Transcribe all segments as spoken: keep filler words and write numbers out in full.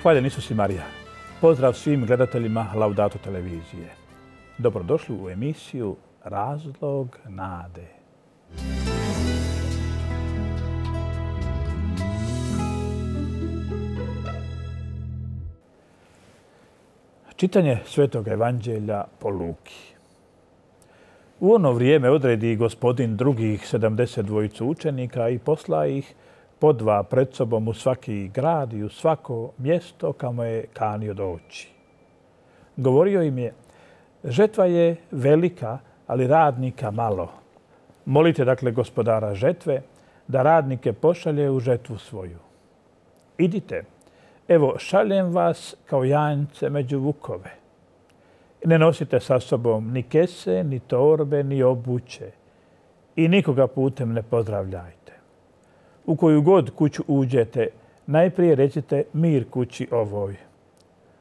Hvaljen Isus i Marija. Pozdrav svim gledateljima Laudato televizije. Dobrodošli u emisiju Razlog nade. Čitanje Svetog evanđelja po Luki. U ono vrijeme odredi Gospodin drugih sedamdeset dvojicu učenika i posla ih po dva pred sobom u svaki grad i u svako mjesto kamo je kanio doći. Govorio im je, žetva je velika, ali radnika malo. Molite dakle gospodara žetve da radnike pošalje u žetvu svoju. Idite, evo šaljem vas kao janjce među vukove. Ne nosite sa sobom ni kese, ni torbe, ni obuće i nikoga putem ne pozdravljajte. U koju god kuću uđete, najprije recite mir kući ovoj.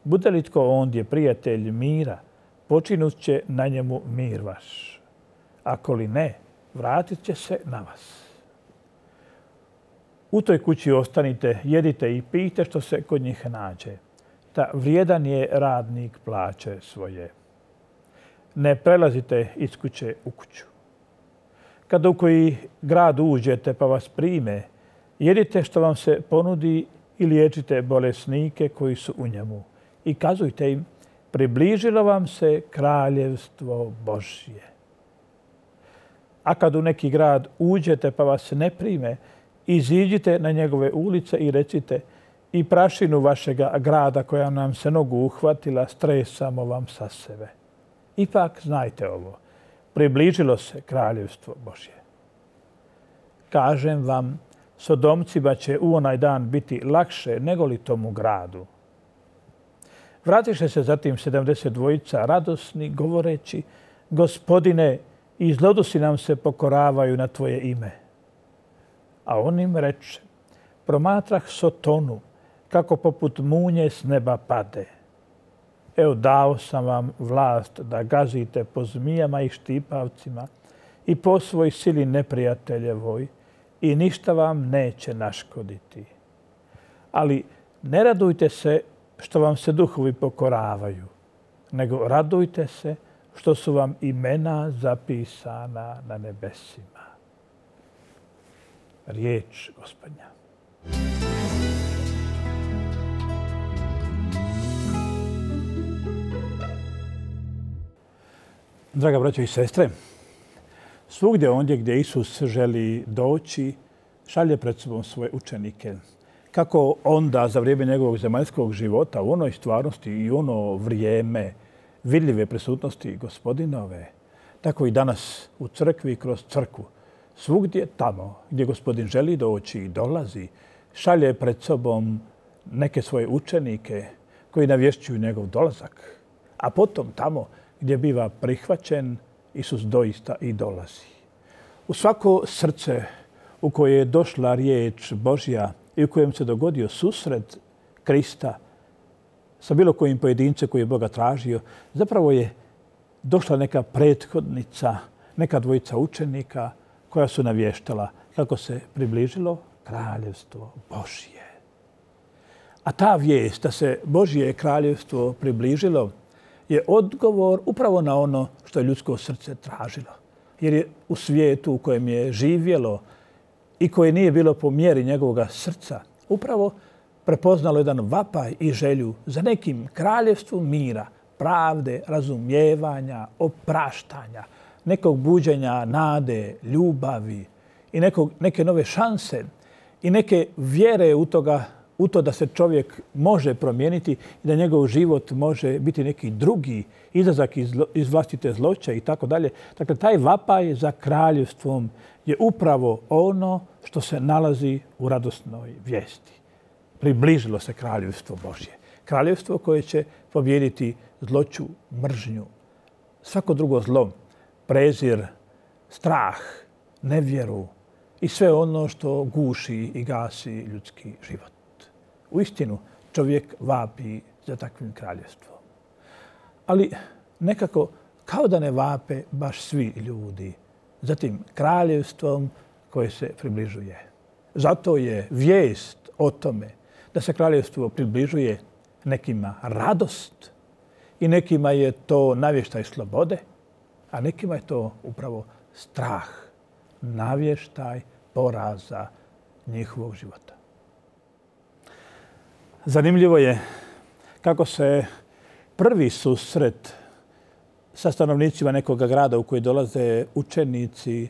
Bude li tko ondje prijatelj mira, počinut će na njemu mir vaš. Ako li ne, vratit će se na vas. U toj kući ostanite, jedite i pijte što se kod njih nađe. Ta vrijedan je radnik plaće svoje. Ne prelazite iz kuće u kuću. Kada u koji grad uđete pa vas prime, jedite što vam se ponudi i liječite bolesnike koji su u njemu. I kazujte im, približilo vam se kraljevstvo Božje. A kad u neki grad uđete pa vas ne prime, iziđite na njegove ulice i recite, i prašinu vašega grada koja nam se nogu uhvatila, stresamo vam sa sebe. Ipak znajte ovo, približilo se kraljevstvo Božje. Kažem vam, Sodomcima će u onaj dan biti lakše nego li tomu gradu. Vratiše se zatim sedamdeset dvojica radosni, govoreći, Gospodine, i zlodusi nam se pokoravaju na tvoje ime. A on im reče, promatrah Sotonu, kako poput munje s neba pade. Evo dao sam vam vlast da gazite po zmijama i štipavcima i po svoj sili neprijateljevoj i ništa vam neće naškoditi. Ali ne radujte se što vam se duhovi pokoravaju, nego radujte se što su vam imena zapisana na nebesima. Riječ Gospodnja. Draga braćo i sestre, svugdje ondje gdje Isus želi doći, šalje pred sobom svoje učenike. Kako onda za vrijeme njegovog zemaljskog života u onoj stvarnosti i u ono vrijeme vidljive prisutnosti Gospodinove, tako i danas u crkvi i kroz crkvu. Svugdje tamo gdje Gospodin želi doći i dolazi, šalje pred sobom neke svoje učenike koji navješćuju njegov dolazak. A potom tamo gdje biva prihvaćen, Isus doista i dolazi. U svako srce u koje je došla riječ Božja i u kojem se dogodio susret Krista sa bilo kojim pojedincem koji je Boga tražio, zapravo je došla neka prethodnica, neka dvojica učenika koja su navještala kako se približilo kraljevstvo Božje. A ta vijest da se Božje kraljevstvo približilo je odgovor upravo na ono što je ljudsko srce tražilo. Jer je u svijetu u kojem je živjelo i koje nije bilo po mjeri njegovog srca, upravo prepoznalo jedan vapaj i želju za nekim kraljevstvom mira, pravde, razumijevanja, opraštanja, nekog buđenja nade, ljubavi i nekog, neke nove šanse i neke vjere u toga u to da se čovjek može promijeniti i da njegov život može biti neki drugi izlazak iz, iz vlastite zloće i tako dalje. Dakle, taj vapaj za kraljevstvom je upravo ono što se nalazi u radosnoj vijesti. Približilo se kraljevstvo Božje. Kraljevstvo koje će pobijediti zloću, mržnju, svako drugo zlo, prezir, strah, nevjeru i sve ono što guši i gasi ljudski život. Uistinu, čovjek vapi za takvim kraljevstvom. Ali nekako kao da ne vape baš svi ljudi za tim kraljevstvom koje se približuje. Zato je vijest o tome da se kraljevstvo približuje nekima radost i nekima je to navještaj slobode, a nekima je to upravo strah, navještaj poraza njihovog života. Zanimljivo je kako se prvi susret sa stanovnicima nekog grada u koji dolaze učenici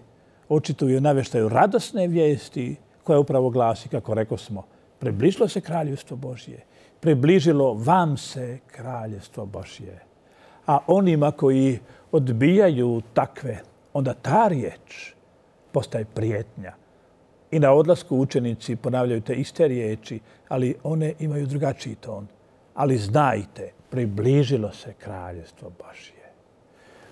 očituju navještaju radosne vijesti koja upravo glasi, kako rekao smo, približilo se kraljevstvo Božje, približilo vam se kraljevstvo Božje. A onima koji odbijaju takve, onda ta riječ postaje prijetnja. I na odlasku učenici ponavljaju te iste riječi, ali one imaju drugačiji ton. Ali znajte, približilo se kraljevstvo Božje.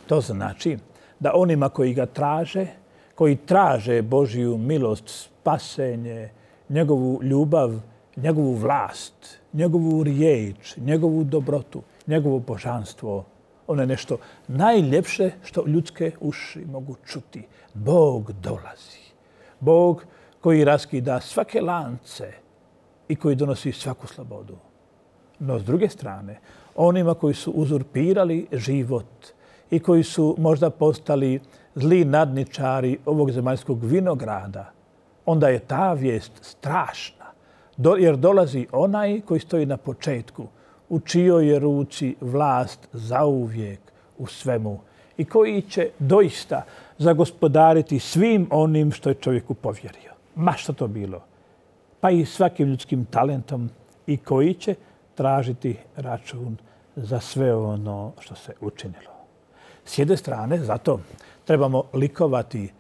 To znači da onima koji ga traže, koji traže Božju milost, spasenje, njegovu ljubav, njegovu vlast, njegovu riječ, njegovu dobrotu, njegovo božanstvo, ono je nešto najljepše što ljudske uši mogu čuti. Bog dolazi. Bog koji raskida svake lance i koji donosi svaku slobodu. No, s druge strane, onima koji su uzurpirali život i koji su možda postali zli nadničari ovog zemaljskog vinograda, onda je ta vijest strašna, jer dolazi onaj koji stoji na početku, u čijoj je ruci vlast zauvijek u svemu i koji će doista zagospodariti svim onim što je čovjeku povjerio. Ma što to bilo, pa i svakim ljudskim talentom i koji će tražiti račun za sve ono što se učinilo. S jedne strane, zato trebamo likovati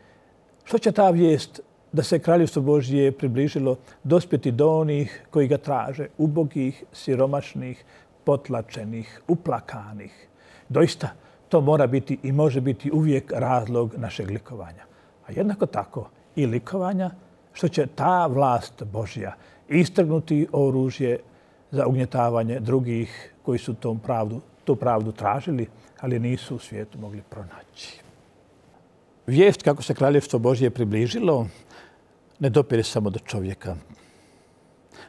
što će ta vijest da se kraljevstvo Božje približilo dospjeti do onih koji ga traže, ubogih, siromašnih, potlačenih, uplakanih. Doista, to mora biti i može biti uvijek razlog našeg likovanja. A jednako tako i likovanja što će ta vlast Božja istrgnuti oružje za ugnjetavanje drugih koji su tom pravdu, tu pravdu tražili, ali nisu u svijetu mogli pronaći. Vijest kako se kraljevstvo Božje približilo ne dopire samo do čovjeka,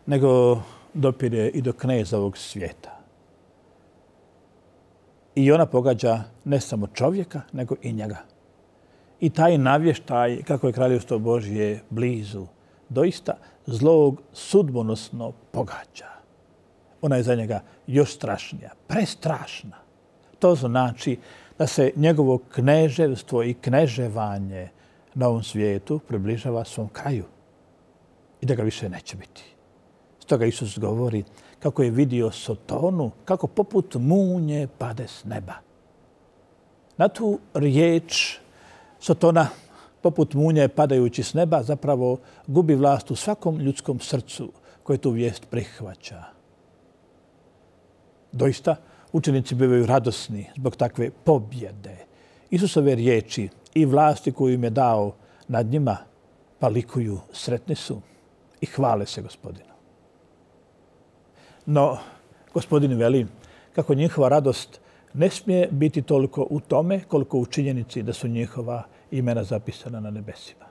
nego dopire i do kneza ovog svijeta. I ona pogađa ne samo čovjeka, nego i njega. I taj navještaj kako je kraljevstvo Božje blizu, doista zlog sudbonosno pogađa. Ona je za njega još strašnija, prestrašna. To znači da se njegovo kneževstvo i kneževanje na ovom svijetu približava svom kraju i da ga više neće biti. Stoga Isus govori kako je vidio Sotonu, kako poput munje pade s neba. Na tu riječ Sotona, poput munje padajući s neba, zapravo gubi vlast u svakom ljudskom srcu koje tu vijest prihvaća. Doista, učenici bivaju radosni zbog takve pobjede. Isusove riječi i vlasti koju im je dao nad njima, pa likuju, sretni su i hvale se Gospodinu. No, Gospodin veli kako njihova radost ne smije biti toliko u tome koliko u činjenici da su njihova imena zapisana na nebesima.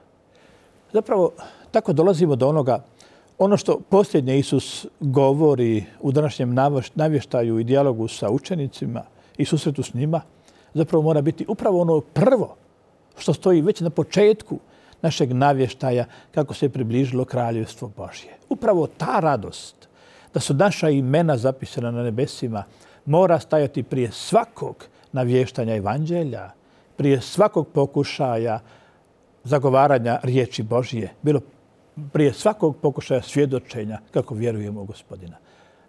Zapravo, tako dolazimo do onoga, ono što posljednje Isus govori u današnjem navještaju i dijalogu sa učenicima i susretu s njima, zapravo mora biti upravo ono prvo što stoji već na početku našeg navještaja kako se približilo kraljevstvo Božje. Upravo ta radost da su naša imena zapisana na nebesima mora stajati prije svakog navještanja evanđelja, prije svakog pokušaja zagovaranja riječi Božje, bilo prije svakog pokušaja svjedočenja kako vjerujemo u Gospodina.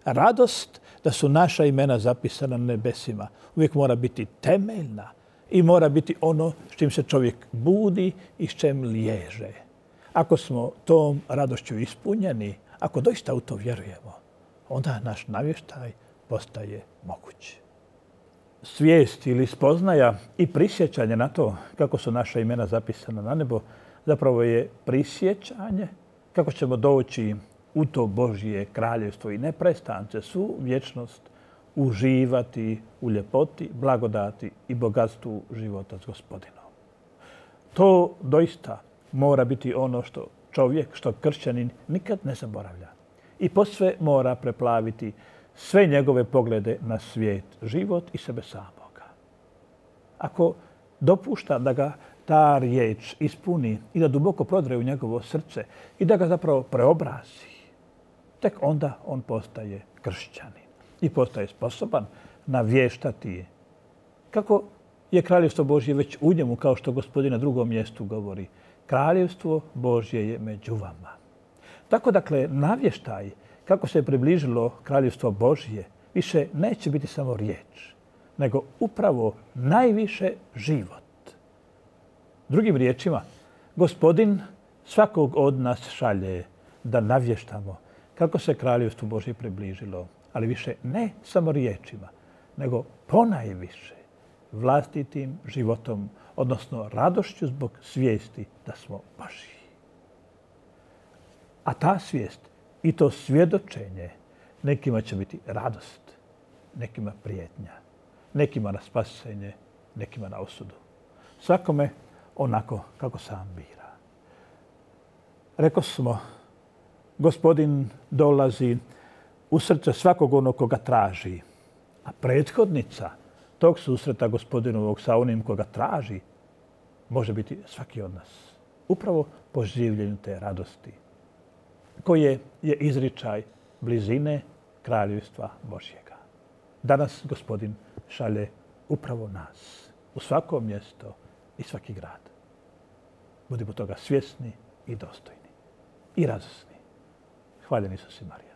Radost da su naša imena zapisana na nebesima uvijek mora biti temeljna i mora biti ono s čim se čovjek budi i s čem liježe. Ako smo tom radošću ispunjeni, ako doista u to vjerujemo, onda naš navještaj postaje moguć. Svijest ili spoznaja i prisjećanje na to kako su naša imena zapisana na nebo zapravo je prisjećanje kako ćemo doći u to Božje kraljevstvo i neprestance svu vječnost uživati u ljepoti, blagodati i bogatstvu života s Gospodinom. To doista mora biti ono što čovjek, što kršćanin nikad ne zaboravlja. i posve mora preplaviti sve njegove poglede na svijet, život i sebe samoga. Ako dopušta da ga ta riječ ispuni i da duboko prodre u njegovo srce i da ga zapravo preobrazi, tek onda on postaje kršćanin i postaje sposoban navještati kako je kraljevstvo Božje već u njemu, kao što Gospodin na drugom mjestu govori. Kraljevstvo Božje je među vama. Tako dakle, navještaj kako se je približilo kraljevstvo Božje više neće biti samo riječ, nego upravo najviše život. Drugim riječima, Gospodin svakog od nas šalje da navještamo kako se kraljevstvo Božje približilo, ali više ne samo riječima, nego ponajviše vlastitim životom, odnosno radošću zbog svijesti da smo Božji. A ta svijest i to svjedočenje nekima će biti radost, nekima prijetnja, nekima na spasenje, nekima na osudu. Svakome onako kako sam bira. Rekao smo, Gospodin dolazi u srce svakog onog koga traži, a prethodnica tog susreta Gospodinovog sa onim koga traži može biti svaki od nas. Upravo po življenju te radosti, koje je izričaj blizine kraljevstva Božjega. Danas Gospodin šalje upravo nas u svako mjesto i svaki grad. Budimo toga svjesni i dostojni i radosni. Hvaljen Isus i Marija.